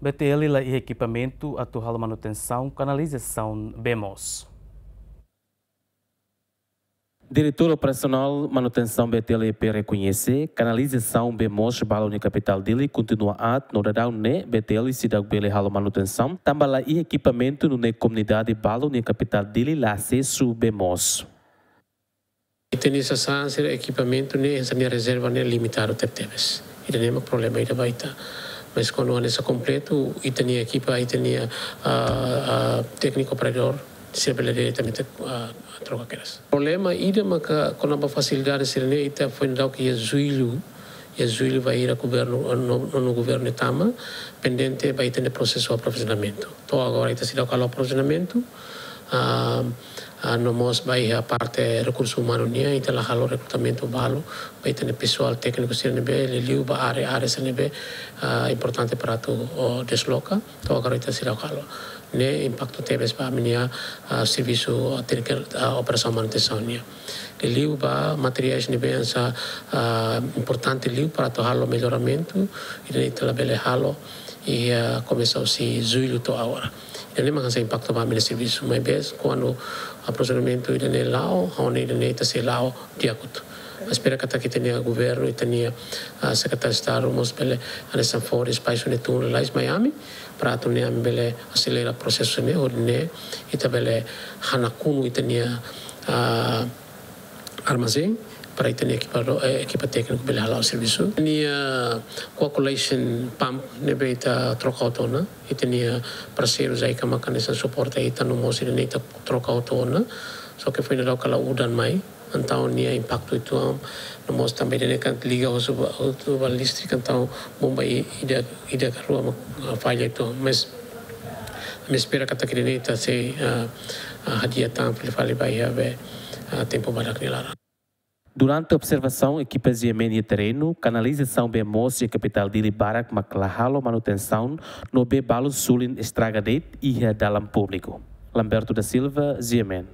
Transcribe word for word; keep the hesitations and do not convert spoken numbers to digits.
B T L la iha ekipamentu atu halo manutensaun kanalizasaun bee moos. Diretór Operasionál Manutensaun B T L rekoñese, kanalizasaun bee moos balu nia kapitál Dili kontinua aat no daudaun ne'e B T L seidauk bele halo manutensaun, tanba la iha ekipamentu nune'e komunidade balu nia kapitál Dili la asesu bee moos. Ita-nia sasán sira, ekipamentu ne'e, hanesan nia rezerva ne'e limitadu tebetebes. Ida-ne'e mak problema ida ba ita. Mas kuandu hanesan kompletu, ita-nia ekipa, ita-nia, ah, ah, tékniku operadór sira bele diretamente, ah, troka kedas. Problema ida maka kona-ba fasilidade sira-ne'e, ita foin daudauk iha Jullu, iha Jullu bainhira governu, no, no, no governu tama, pendente ba ita-nia prosesu aprovizionamentu. To'o agora ita seidauk halo aprovizionamentu, ah, ah, no mós ba iha parte rekursu umanu nian, ita la halo rekrutamentu balu ba ita-nia pesoál tékniku sira ne'ebé, liuliu ba área-área sira ne'ebé, ah, importante para atu, oh, desloka, to'o agora ita seidauk halo. Ne'e impaktu tebes ba ami-nia, ah, servisu, ah, tékniku, ah, operasaun manutensaun nian. Liuliu ba materiais ne'ebé hanesan, ah, importante liu para atu halo melloramentu, ida-ne'e ita labele halo, i, ah, komesa husi Jullu to'o agora. Ida-ne'e mak hanesan impaktu ba ami-nia servisu, maibé kuandu aprovizionamentu ida-ne'e la'o, ha'u hanoin ida-ne'e ita sei la'o di'ak hotu. Mas espera katak ita-nia governu, ita-nia, ah, Sekretáriu Estadu mós bele hanesan fó espaisu ne'e tun lalais mai ami, para atu nune'e ami bele aselera prosesu ne'e, hodi nune'e ita bele hanakonu ita-nia, ah, armazén, para ita-nia ekipa do-, eh, ekipa tékniku bele hala'o servisu. Ita-nia coagulation pump ne'ebé ita troka hotu ona, ita-nia parseiru JICA maka hanesan suporta ita no mós ida-ne'e ita troka hotu ona. Só ke foin daudauk la udan mai, entaun nia impaktu uitoan, no mós tanba ida-ne'e kan liga hotu ba, hotu ba listrik, entaun bomba i-, ida, ida ka rua mak, ah, falla uitoan. Mas ami espera katak ida-ne'e ita sei, ah, ah, hadi'a tan fali-fali ba iha be, ah, tempu badak nia laran. Durante observasaun ekipa GMN iha terrenu, kanalizasaun bee moos iha kapitál Dili barak mak la halo manutensaun no bee balu sulin estraga de'it iha dalan públiku. Lamberto da Silva, GMN.